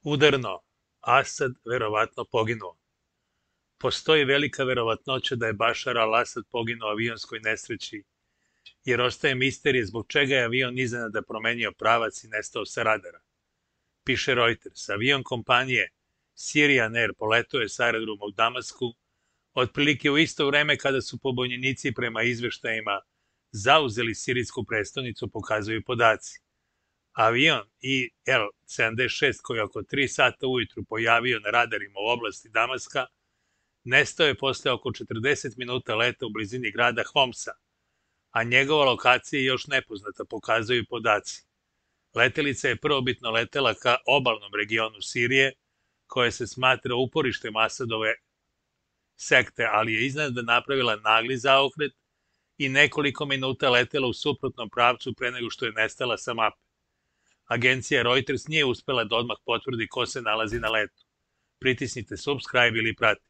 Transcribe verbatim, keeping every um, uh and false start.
Udarno, Asad verovatno poginuo. Postoji velika verovatnoća da je Bašar al-Asad poginuo u avionskoj nesreći, jer ostaje misterije zbog čega je avion iznenada promenio pravac i nestao sa radara. Piše Reuters, avion kompanije Syrian Air poletao je sa aerodroma u Damasku otprilike u isto vreme kada su pobunjenici prema izveštajima zauzeli sirijsku prestonicu, pokazuju podaci. Avion I L sedamdeset šest koji je oko tri sata ujutru pojavio na radarima u oblasti Damaska nestao je posle oko četrdeset minuta leta u blizini grada Homsa, a njegova lokacija je još nepoznata, pokazuju podaci. Letelica je prvobitno letela ka obalnom regionu Sirije, koje se smatra uporištem Asadove sekte, ali je iznenada napravila nagli zaokret i nekoliko minuta letela u suprotnom pravcu pre nego što je nestala sa mape. Agencija Reuters nije uspela da odmah potvrdi ko se nalazi na letu. Pritisnite subscribe ili prati.